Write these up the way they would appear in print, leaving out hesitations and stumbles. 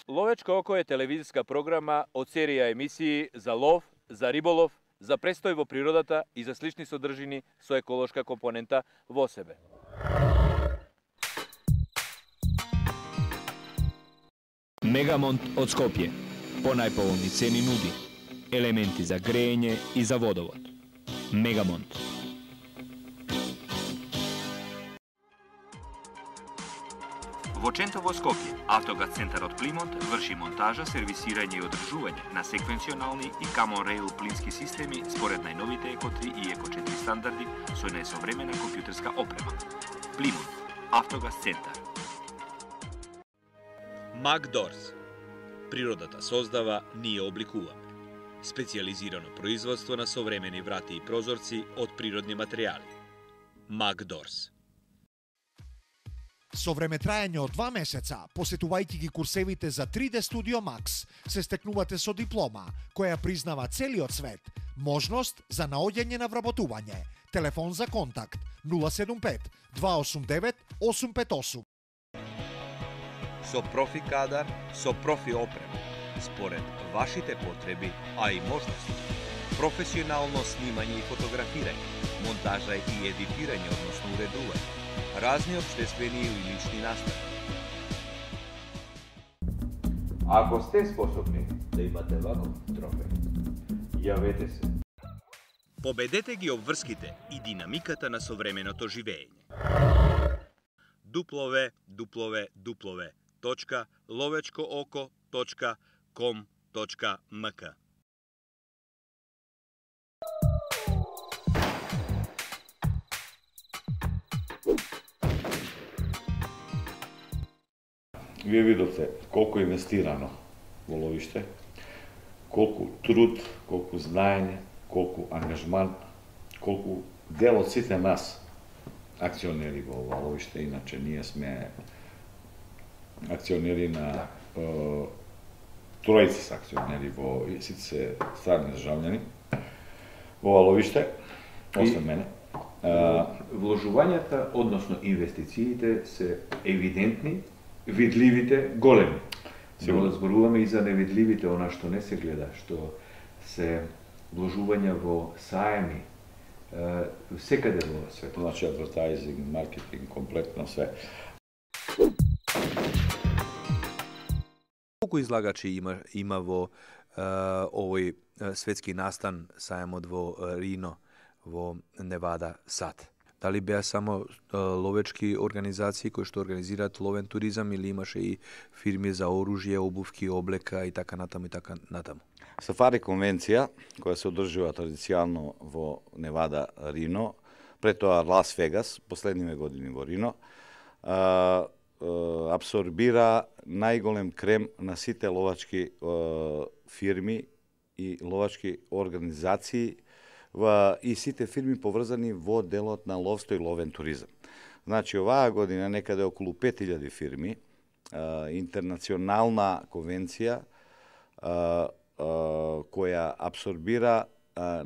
Ловечко око е телевизиска програма од серија емисии за лов, за риболов, за престој во природата и за слични содржини со еколошка компонента во себе. Мегамонт од Скопје. По најповолни цени нуди елементи за грејење и за водовод. Мегамонт. Во Чентово, Скопје, Автогаз центарот Плимонт врши монтажа, сервисирање и одржување на секвенционални и Common Rail плински системи според најновите Еко 3 и Еко 4 стандарди со најсовремена компјутерска опрема. Плимонт, Автогаз центар. Макдорс. Природата создава, ние обликуваме. Специјализирано производство на современи врати и прозорци од природни материјали. Макдорс. Со времетраење од 2 месеца, посетувајќи ги курсевите за 3D Studio Max, се стекнувате со диплома, која признава целиот свет, можност за наоѓање на вработување. Телефон за контакт 075 289 858. Со профи кадар, со профи опрема, според вашите потреби, а и можности. Професионално снимање и фотографирање, монтажа и едитирање, односно уредување, разни обществени или лични настави. Ако сте способни да имате ваков трофеј, јавете се. Победете ги обврските и динамиката на современото живење. www.lovečkooko.com.mk Вие видовте колку е инвестирано во ловиште, колку труд, колку знаење, колку ангажман, колку дел од сите нас акционери во ова ловиште, иначе ние сме акционери на тројци се акционери во сите се страни државјани во ова ловиште, освен мене. Вложувањата, односно инвестициите се евидентни, видливите големи. Сигурно зборуваме и за невидливите, она што не се гледа, што се вложувања во саеми, секаде во светот. Значи, адвертайзинг, маркетинг, комплетно све. Колку излагачи има во овој светски настан саемот во Рино, во Невада, САД? Дали беа само ловечки организации кои што организираат ловен туризам или имаше и фирми за оружје, обувки, облека и така натаму и така натаму? Сафари конвенција, која се одржува традиционално во Невада, Рино, пред тоа Лас Вегас, последниве години во Рино, абсорбира најголем крем на сите ловачки фирми и ловачки организации и сите фирми поврзани во делот на ловство и ловен туризам. Значи, оваа година некаде околу 5000 фирми, интернационална конвенција која абсорбира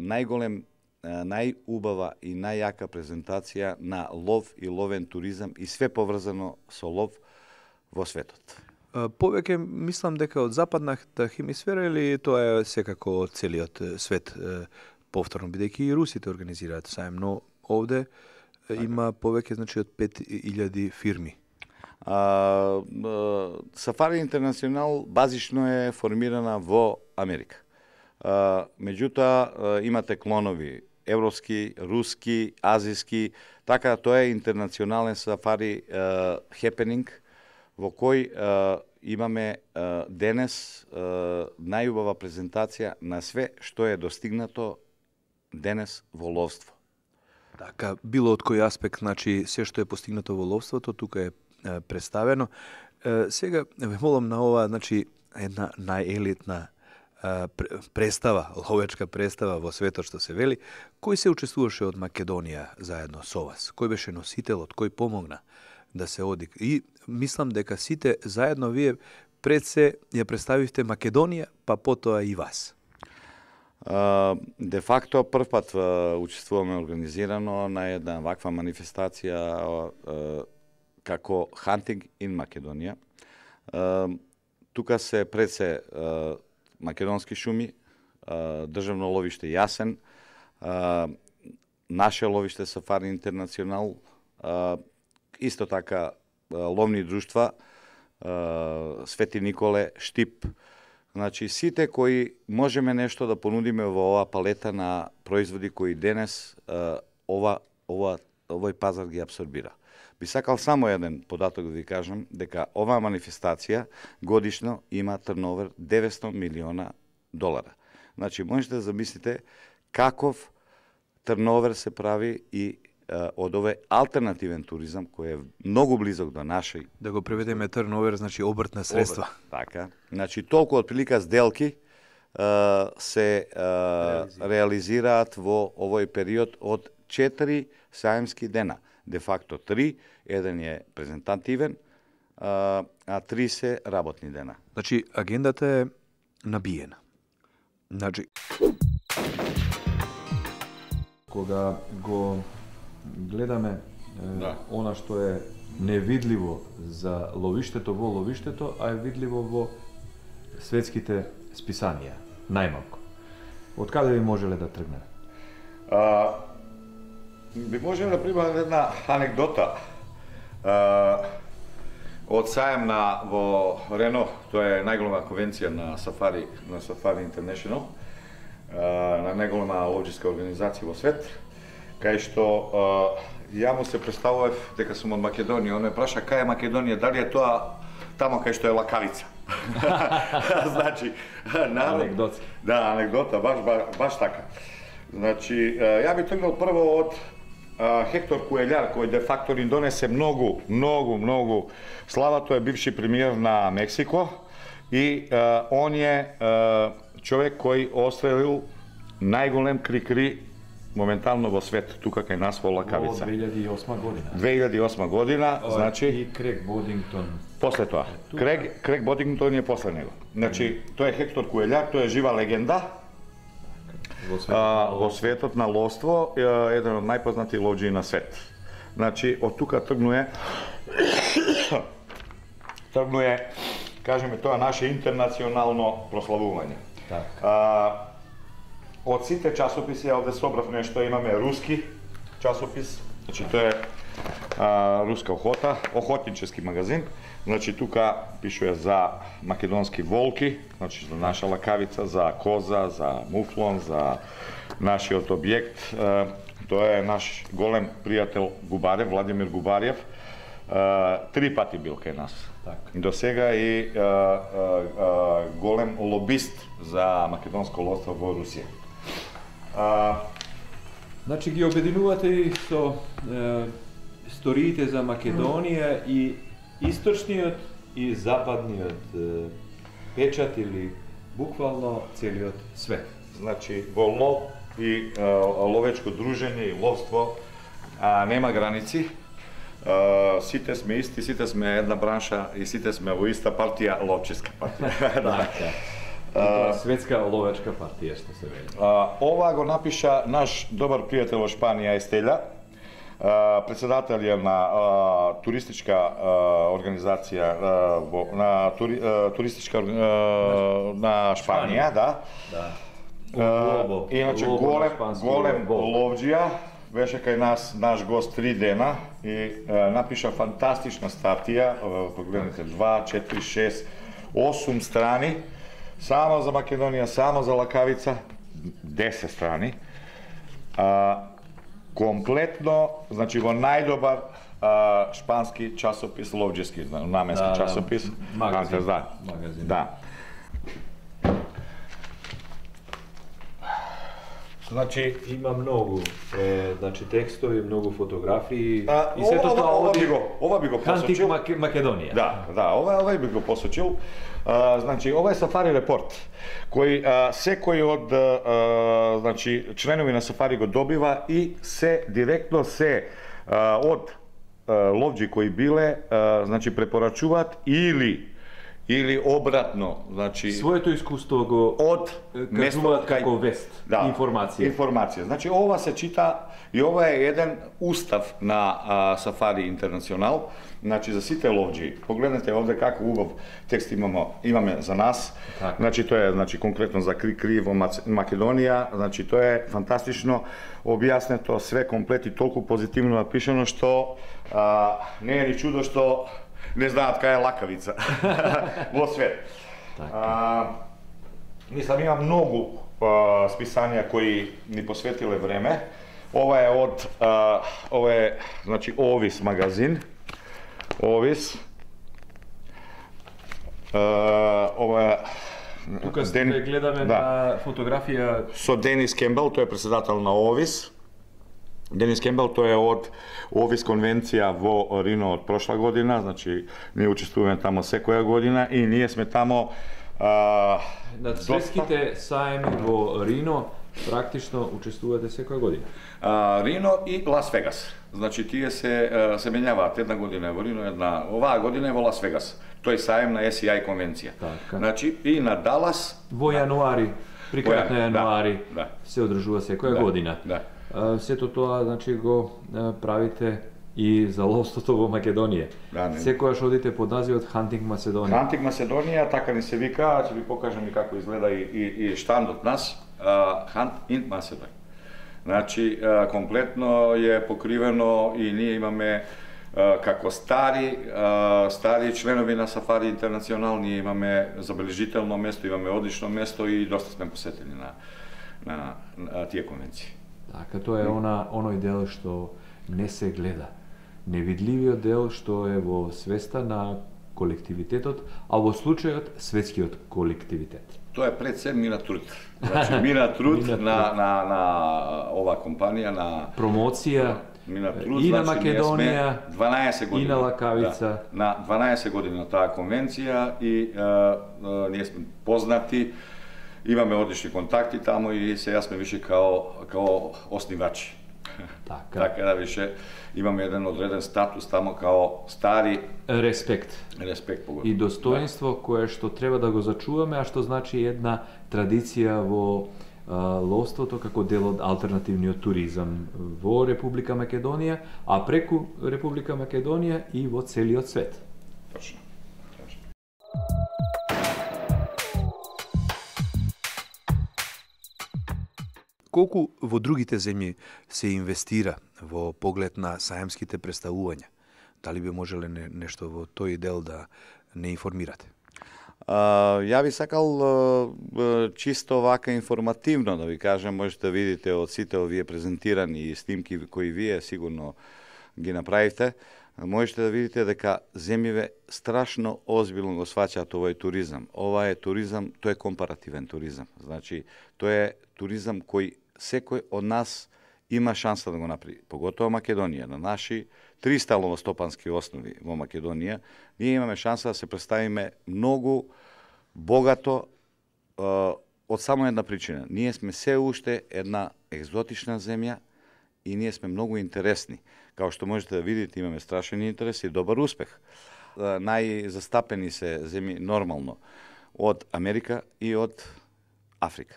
најголем, најубава и најјака презентација на лов и ловен туризам и све поврзано со лов во светот. Повеќе мислам дека од западната хемисфера или тоа е секако од целиот свет? Повторно, бидејќи и русите организираат саем, но овде има повеќе, значи, од 5000 фирми. Сафари Интернационал базично е формирана во Америка. Меѓутоа, имате клонови европски, руски, азиски, така тоа е интернационален сафари хепенинг, во кој имаме денес најубава презентација на све што е достигнато денес во ловство. Така, било од кој аспект, значи, се што е постигнато во ловството, тука е представено. Сега, ве молам на ова, значи, една најелитна представа, ловечка представа во светот што се вели, кој се учествуваше од Македонија заедно со вас? Кој беше носителот? Кој помогна да се оди? И мислам дека сите заедно вие пред се ја представивте Македонија, па потоа и вас. Де факто прв пат учествуваме организирано на една ваква манифестација како Hunting in Македонија. Тука се пред се македонски шуми, државно ловиште Јасен, наше ловиште Сафари Интернационал, исто така ловни друштва, Свети Николе, Штип. Значи, сите кои можеме нешто да понудиме во оваа палета на производи кои денес овој пазар ги абсорбира. Би сакал само еден податок да ви кажам, дека оваа манифестација годишно има турновер 900 милиона долара. Значи, можете да замислите каков турновер се прави и од овој алтернативен туризам кој е многу близок до нашој. Да го преведеме турновер, значи обртна средства. Така. Значи, толку отприлика сделки се реализираат во овој период од 4 саемски дена. Де факто 3, еден е презентативен, а 3 се работни дена. Значи, агендата е набиена. Значи, кога го гледаме она што е невидливо за ловиштето во ловиштето, а е видливо во светските списанија, најмалку. Од каде би можеле да тргнеме? Би можем да прибавам една анекдота. Од саем во Рено, тоа е најголема конвенција на Сафари International, на најголема ловческа организација во свет, кај што ја му се представував дека сум од Македонија, он ме праша кај е Македонија, дали е тоа тамо кај што е Лакавица. Значи, анекдота. Да, анекдота, баш така. Значи, ја би тргнал прво од Хектор Куелјар, кој де факто ни донесе многу слава. Тој е бивши премиер на Мексико и он е човек кој острелил најголем крикри моментално во свет, тука кај нас во Лакавица. Во 2008 година. 2008 година, значи... И Крейг Бодингтон. После тоа. Крейг Бодингтон е после него. Значи, тој е Хектор Куелјар, тој е жива легенда. Во светот на ловство, еден од најпознати ловџии на свет. Значи, од тука тргнуе, кажеме, тоа наше интернационално прославување. Од сите часописи, овде собрав нешто, имаме руски часопис, значи тоа е руска охотнически магазин. Значи, тука пишува за македонски волки, значи за наша Лакавица, за коза, за муфлон, за нашиот објект. Тоа е наш голем пријател Губарев, Владимир Губарев. 3 пати бил кај нас. До сега и голем лобист за македонско ловство во Русија. Значи ги обединувате и со историите за Македонија и источниот и западниот печат или буквално целиот свет. Значи, во лов и ловечко дружење и ловство нема граници. Сите сме исти, сите сме една бранша и сите сме во иста партија, ловческа партија. Светска ловечка партија, што се вели. Ова го напиша наш добар пријател во Шпанија, Естелја, председател е на туристичка организација на Шпанија, да. Иначе голем ловџија, беше кај нас наш гост 3 дена и напиша фантастична статија, погледнете 2, 4, 6, 8 страни, само за Македонија, само за Лакавица, 10 страни. Комплетно, значи во најдобар шпански часопис, ловџески, наменски часопис. Магазин. Да. Значи има многу текстови, многу фотографии и сето тоа ова би го посочил. Македонија. Да, ова би го посочил. Значи ова е Сафари репорт кој секој од членови на Сафари го добива и се директно од ловџи кои биле, значи препорачуваат или или обратно, значи Своето искуство го од место како вест, информација. Информација. Значи ова се чита и ова е еден устав на Сафари Интернационал. Значи за сите ловџи. Погледнете овде како убав текст имаме за нас. Така. Значи тоа е конкретно за Кри во Македонија. Значи тоа е фантастично објаснето, све комплет и толку позитивно напишано што не е ни чудо што не знаат кај е лакавица во свет. Мислам, има многу списанија кои ни посветиле време. Ова е од ова е значи Овис магазин. Овис. Ова тука гледаме на фотографија со Денис Кембел, тој е председател на Овис. Денис Кембел, тој е од Овис конвенција во Рино од прошла година, значи ние учествуваме тамо секоја година и ние сме тамо на светските саеми во Рино практично учествувате секоја година. Рино и Лас Вегас. Значи тие се менјаваат, една година е во Рино, оваа година е во Лас Вегас. Тој саем на SCI конвенција. Така. Значи и на Далас во јануари, при крајот на јануари се одржува секоја година. Сето тоа значи го правите и за ловството во Македонија. Секогаш одите под називот Hunting Macedоnia. Hunting Macedоnia, така ни се вика, ќе ви покажам и како изгледа и штандот нас, Hunt in Macedоnia. Значи, комплетно е покривено и ние имаме како стари членови на Сафари Интернационал, ние имаме забележително место, имаме одлично место и доста сме посетени на тие конвенции. Така, тоа е оној дел што не се гледа. Невидливиот дел што е во свеста на колективитетот, а во случајот светскиот колективитет. Тоа е пред се мина труд. Значи мина труд на оваа компанија, на промоција и на Македонија, 12 години, и на Лакавица. На 12 години на таа конвенција и ние сме познати, имаме одлични контакти тамо и сега сме више као основачи. Така да више имаме еден одреден статус тамо као стари респект погодно. И достоинство кое што треба да го зачуваме, а што значи една традиција во ловството како дел од алтернативниот туризам во Република Македонија, а преку Република Македонија и во целиот свет. Точно. Колку во другите земји се инвестира во поглед на саемските представувања? Дали би можеле нешто во тој дел да не информирате? Ја би сакал чисто вака информативно да ви кажам, можете да видите од сите овие презентирани снимки кои вие сигурно ги направивте, можете да видите дека земјиве страшно озбилно го сваќаат овој туризам. Ова е туризам, тој е компаративен туризам. Значи, тој е туризам кој секој од нас има шанса да го направи. Поготово Македонија, на наши 300 ловостопански основи во Македонија, ние имаме шанса да се представиме многу богато од само една причина. Ние сме се уште една екзотична земја и ние сме многу интересни. Као што можете да видите, имаме страшен интерес и добар успех. Најзастапени се земји нормално од Америка и од Африка.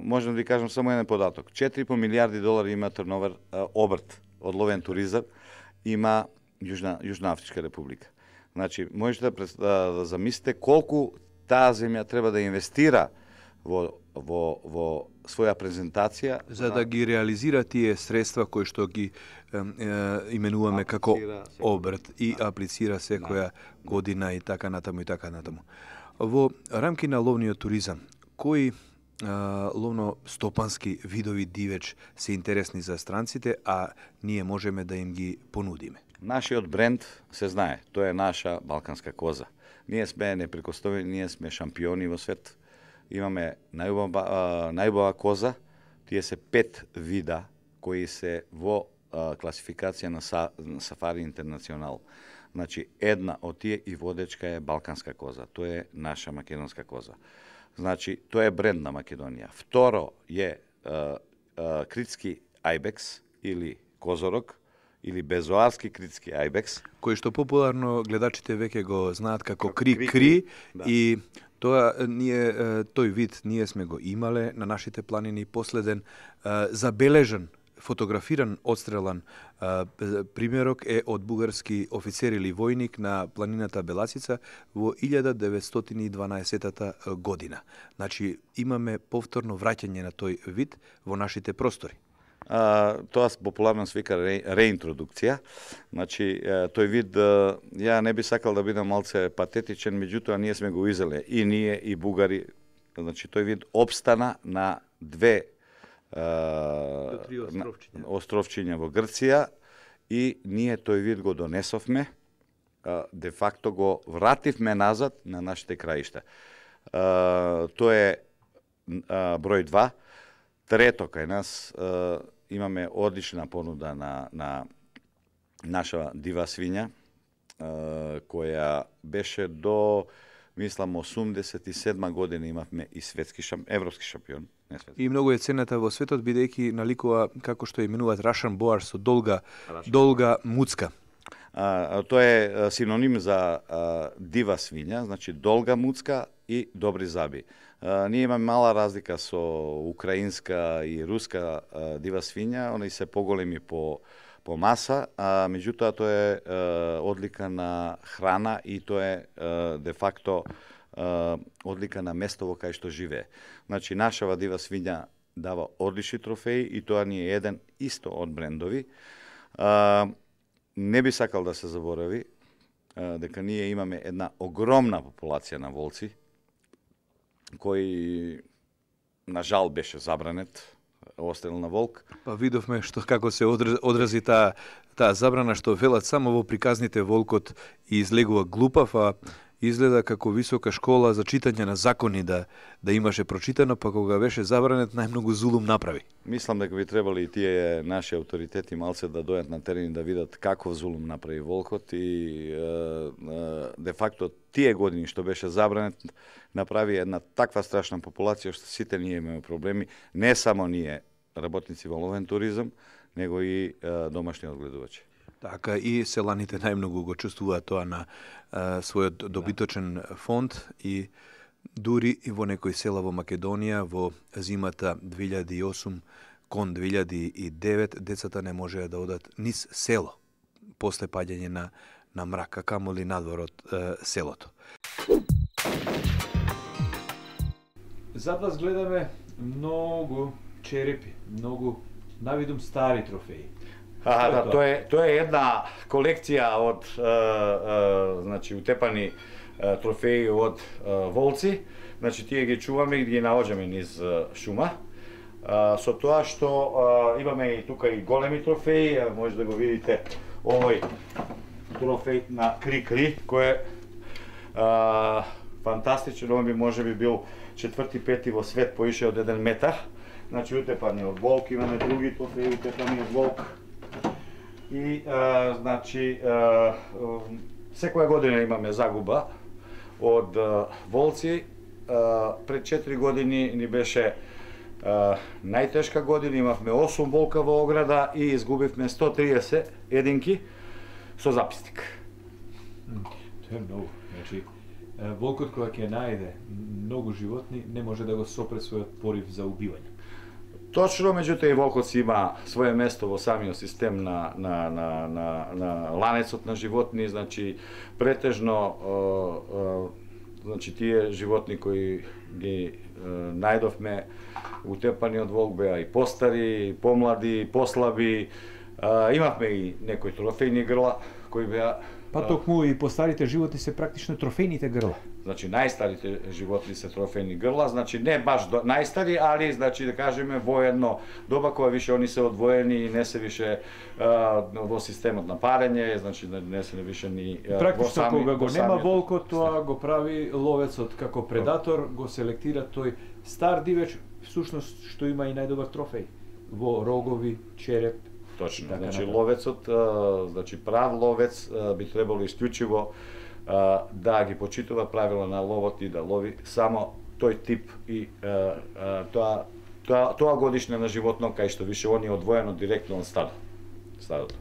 Можам да ви кажам само еден податок. 4,5 милиарди долари има турновер, обрт од ловен туризам, има Јужна Афричка република. Значи, можете да замислите колку таа земја треба да инвестира во своја презентација за да ги реализира тие средства кои што ги именуваме како обрт и аплицира секоја година и така натаму и така натаму. Во рамки на ловниот туризам, кои ловно-стопански видови дивеч се интересни за странците, а ние можеме да им ги понудиме? Нашиот бренд се знае, тоа е наша балканска коза. Ние сме непрекосновени, ние сме шампиони во свет. Имаме најубава коза, тие се 5 вида кои се во класификација на Сафари Интернационал. Значи, една од тие и водечка е балканска коза, тоа е наша македонска коза. Значи, тоа е бренд на Македонија. Второ е критски ајбекс или козорог или безоарски критски ајбекс, кој што популарно гледачите веќе го знаат како кри-кри, да. И тоа тој вид ние сме го имале на нашите планини, последен забележан, фотографиран, отстрелан примерок е од бугарски офицер или војник на планината Беласица во 1912 година. Значи, имаме повторно враќање на тој вид во нашите простори. Тоа популарно се вика реинтродукција. Значи, тој вид, ја не би сакал да бидам малце патетичен, меѓутоа ние сме го изеле, и ние, и бугари. Значи, тој вид обстана на две островчиња во Грција, и ние тој вид го донесовме, де факто го вративме назад на нашите краишта. Тоа е број 2. Трето, кај нас имаме одлична понуда на наша дива свиња, која беше до, мислам, 87 година имавме и европски шампион. И многу е ценета во светот, бидејќи наликува како што именуваат Russian Boar со долга муцка. Тоа е синоним за дива свиња, значи долга муцка и добри заби. Ние имаме мала разлика со украинска и руска дива свиња, они се поголеми по маса, меѓутоа тоа е одлика на храна и тоа е де факто одлика на место во кај што живее. Значи, нашава дива свиња дава одлични трофеи и тоа ни е еден исто од брендови. Не би сакал да се заборави дека ние имаме една огромна популација на волци, кој на жал беше забранет, острел на волк. Па видовме како се одрази таа забрана, што велат само во приказните волкот и излегува глупав, а изгледа како висока школа за читање на закони да имаше прочитано, па кога беше забранет најмногу зулум направи. Мислам дека би требали и тие наши авторитети малце да дојдат на терен да видат каков зулум направи волкот и де факто тие години што беше забранет направи една таква страшна популација што сите ние имаме проблеми, не само ние работници во ловен туризам, него и домашни одгледувачи. Така, и селаните најмногу го чувствуваат тоа на својот добиточен фонд и дури и во некои села во Македонија во зимата 2008 кон 2009 децата не можеа да одат низ село после паѓање на мрак, а камоли надвор од селото. Зад вас гледаме многу черепи, многу навидум стари трофеи. Да, тоа е една колекција од значи утепани трофеи од волци. Значи тие ги чуваме и ги наоѓаме низ шума. Со тоа што имаме и тука и големи трофеи, може да го видите овој трофеј на кри-кри, кој е фантастичен, он би може би бил 4-5 во свет поише од 1 метар. Значи утепани од волк, имаме други трофеи утепани од волк. И значи секоја година имаме загуба од волци. Пред 4 години ни беше најтешка година, имавме 8 волка во ограда и изгубивме 130 единки со записник. Тоа е многу. Значи, волкот кога ќе најде многу животни не може да го сопре својот порив за убивање. Точно, меѓутоа и волкот си има свое место во самиот систем на ланецот на животни, значи претежно значи тие животни кои ги најдовме утепани од волк беа и постари, и помлади, и послаби. Имавме и некои трофејни грла кои беа. Па токму и постарите животни се практично трофејните грла. Значи најстарите животни се трофејни грла, значи не баш најстари, али значи да кажеме во едно доба кога више они се одвоени и не се више во системот на парење, значи не се више ни практично кога го нема волкот, тоа го прави ловецот како предатор, го селектира тој стар дивеч, всушност што има и најдобар трофеј во рогови, череп. Точно, значи ловецот, значи прав ловец би требало исклучиво да ги почитува правила на ловот и да лови само тој тип и тоа годишне на животно кај што више они одвоено директно од стадото.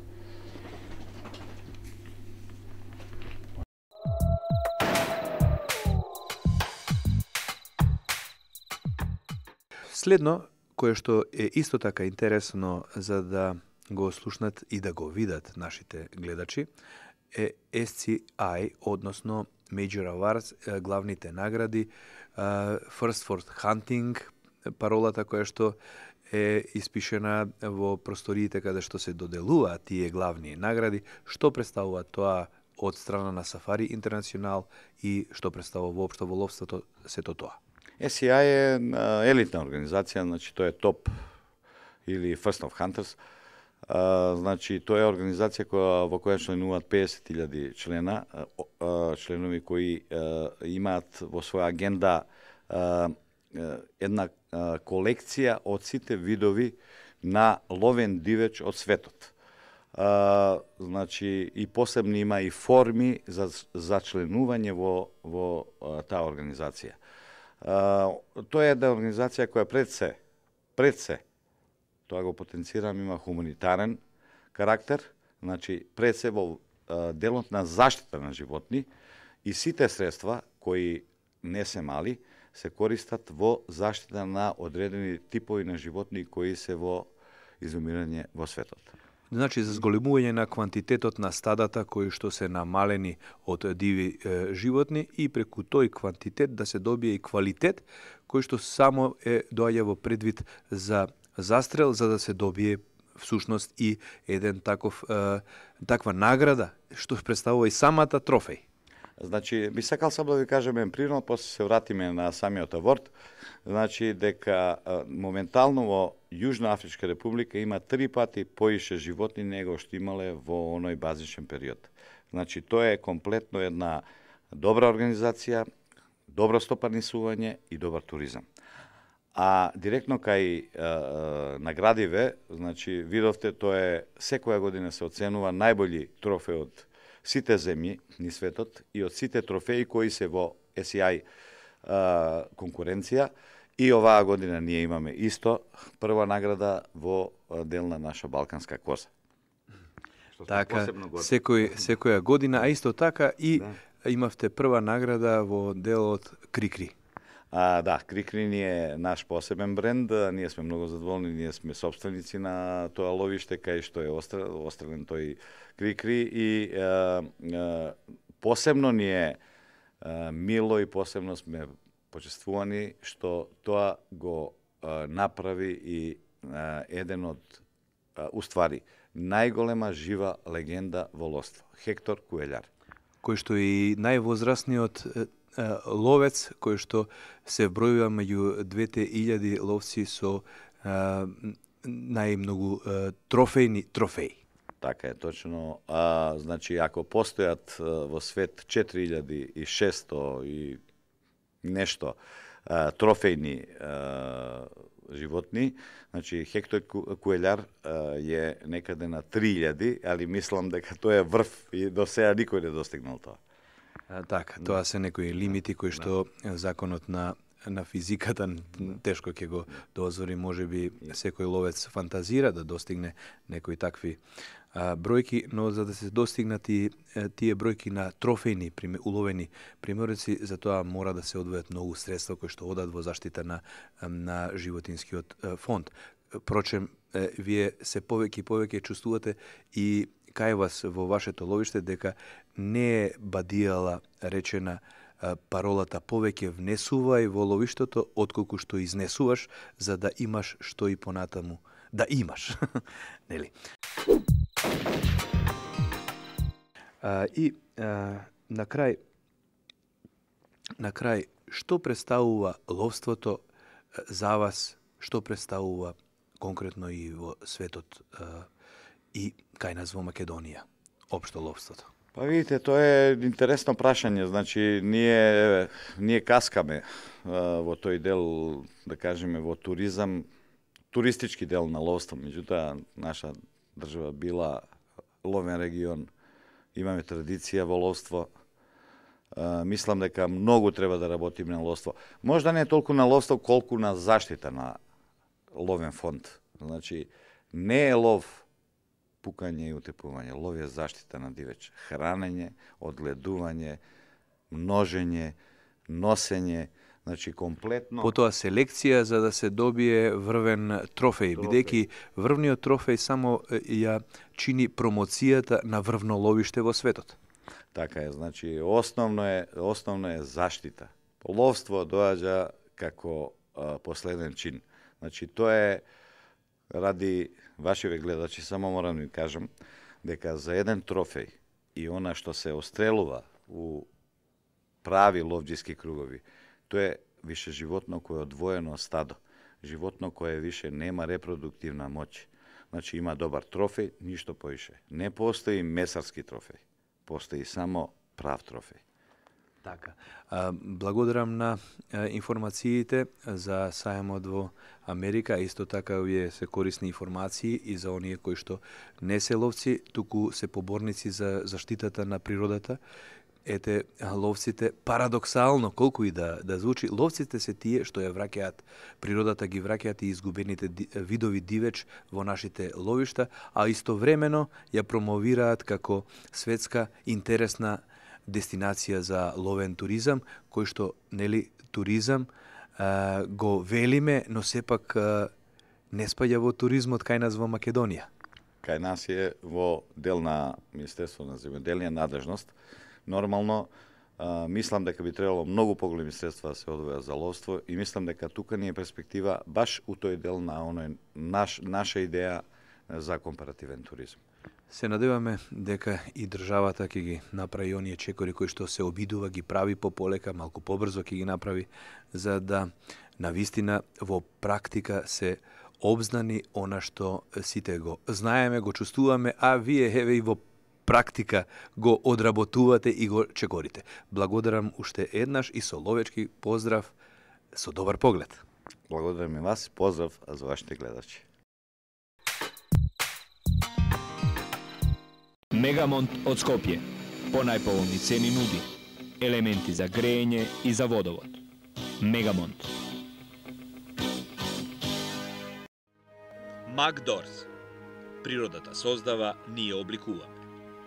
Следно, кое што е исто така интересно за да го слушнат и да го видат нашите гледачи, е SCI, односно Major Awards, главните награди, First for Hunting, паролата која што е испишена во просториите каде што се доделуваат тие главни награди, што представува тоа од страна на Сафари Интернационал и што представува воопшто во ловството сето тоа? SCI е елитна организација, значи тоа е топ или First of Hunters. Значи тоа е организација во која членуваат 50.000 членови кои имаат во своја агенда една колекција од сите видови на ловен дивеч од светот. Значи и посебно има и форми за членување во таа организација. Тоа е една организација која пред се, тоа го потенцирам, има хуманитарен карактер, значи пред се во делот на заштита на животни и сите средства кои не се мали се користат во заштита на одредени типови на животни кои се во изумирање во светот. Значи, за зголемување на квантитетот на стадата кои што се намалени од диви животни и преку тој квантитет да се добие и квалитет кој што само доаѓа во предвид за застрел, за да се добие всушност и еден таква награда што представува и самата трофеј. Значи, би сакал сам да ви кажем еден пример, после се вратиме на самиот аворд. Значи, дека моментално во Јужна Афричка република има 3 пати поише животни него што имале во оној базичен период. Значи, тоа е комплетно една добра организација, добро стопанисување и добар туризам. А директно кај наградиве, значи, видовте, тоа е секоја година се оценува најбољи трофеј од сите земји ни светот и од сите трофеи кои се во SCI конкуренција. И оваа година ние имаме исто прва награда во дел на наша балканска коза. Така, секоја година, а исто така и имавте прва награда во делот Крикри. Да, Крикри ни е наш посебен бренд, ние сме многу задоволни, ние сме собственици на тоа ловиште кај што е острелен тој Крикри и посебно ни е мило и посебно сме почествувани што тоа го направи и еден од уствари најголема жива легенда во ловство, Хектор Куелјар. Кој што и највозрастниот ловец, кој што се бројува меѓу 2000 ловци со најмногу трофеи. Така е, точно. Значи, ако постојат во свет 4600 и нешто трофејни животни, значи Хектор Куелјар е некаде на 3000, али мислам дека тоа е врв и до сега никој не достигнал тоа. Така, тоа се некои лимити кои што законот на физиката тешко ќе го дозволи, можеби секој ловец фантазира да достигне некои такви бројки, но за да се достигнат и тие бројки на трофејни уловени приморци, за тоа мора да се одвојат многу средства кои што одат во заштита на животинскиот фонд. Впрочем, вие се повеќе чувствувате и кај вас во вашето ловиште дека не е бадијала речена паролата повеќе внесувај во ловиштето отколку што изнесуваш, за да имаш што и понатаму да имаш. Нели? На крај, што представува ловството за вас, што представува конкретно и во светот и кај нас во Македонија, општо ловството? Па видите, тоа е интересно прашање. Значи, ние каскаме во тој дел, да кажеме, во туризам, туристички дел на ловство. Меѓутоа, наша држава била ловен регион, имаме традиција во ловство. Мислам дека многу треба да работиме на ловство. Можда не толку на ловство, колку на заштита на ловен фонд. Значи, не е лов пукање и утепување, лов е заштита на дивеч, хранење, одгледување, множење, носење, Значи, комплетно... Потоа селекција за да се добие врвен трофеј, бидејќи врвниот трофеј само ја чини промоцијата на врвно ловиште во светот. Така е, значи, основно е заштита. Ловство доаѓа како последен чин. Значи, тоа е, ради вашиве гледачи, само морам да ви кажам, дека за еден трофеј и она што се острелува у прави ловџиски кругови, тоа е више животно кое е одвоено од стадо, животно кое више нема репродуктивна моќ. Значи, има добар трофеј, ништо поише. Не постои месарски трофеј, постои само прав трофеј. Така. Благодарам на информациите за сајмот во Америка, исто така вие се корисни информации и за оние кои што не се ловци, туку се поборници за заштитата на природата. Ете, ловците, парадоксално, колку и да звучи, ловците се тие што ја враќаат природата, ги враќаат и изгубените видови дивеч во нашите ловишта, а истовремено ја промовираат како светска интересна дестинација за ловен туризам, кој што, нели, туризам го велиме, но сепак не спаѓа во туризмот кај нас во Македонија. Кај нас е во дел на Министерство на земјоделие надлежност. Нормално, мислам дека би требало многу поголеми средства да се одвоја за ловство и мислам дека тука ни е перспектива баш у тој дел на оној наша идеја за компаративен туризм. Се надеваме дека и државата ќе ги направи оние чекори кои што се обидува, ги прави пополека, малку побрзо ќе ги направи, за да навистина во практика се обзнани она што сите го знаеме, го чувствуваме, а вие еве и во практика го одработувате и го чекорите. Благодарам уште еднаш и со ловечки поздрав, со добар поглед. Благодарам и вас, поздрав за вашите гледачи. Мегамонт од Скопје. По најповолни цени нуди елементи за грејење и за водовод. Мегамонт. Макдорс. Природата создава, ние обликуваме.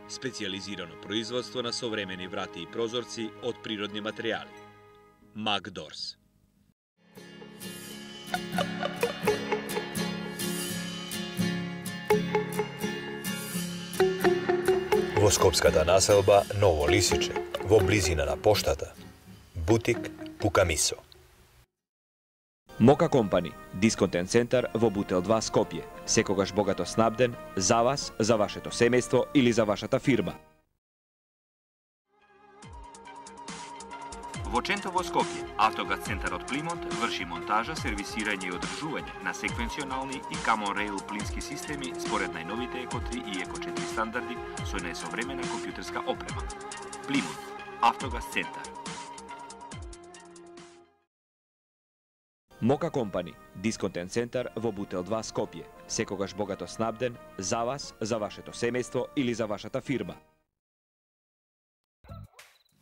Специјализирано производство на современи врати и прозорци од природни материјали. Макдорс. Во скопската населба Ново Лисиче, во близина на поштата, бутик Пукамисо. Мока Компани, дисконтен центар во Бутел 2 Скопје. Секогаш богато снабден за вас, за вашето семејство или за вашата фирма. Во Чентово Скопје, Автогаз центарот Плимонт врши монтажа, сервисирање и одржување на секвенционални и Common Rail плински системи според најновите Еко 3 и Еко 4 стандарди со најсовремена компјутерска опрема. Плимонт, Автогаз центар. Мока Компани, дисконтен центар во Бутел 2 Скопје. Секогаш богато снабден за вас, за вашето семејство или за вашата фирма.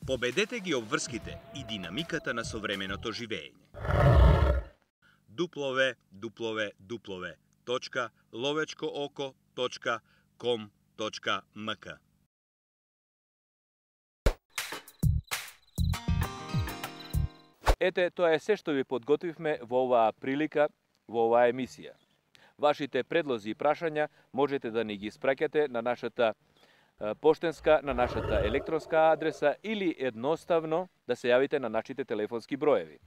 Победете ги обврските и динамиката на современото живење. www.lovečkooко.com.mk Ете, тоа е се што ви подготвивме во оваа прилика, во оваа емисија. Вашите предлози и прашања можете да ни ги испраќате на нашата поштенска, на нашата електронска адреса или едноставно да се јавите на нашите телефонски броеви.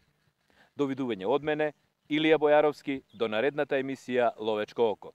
Довидување од мене, Илија Бојаровски, до наредната емисија Ловечко око.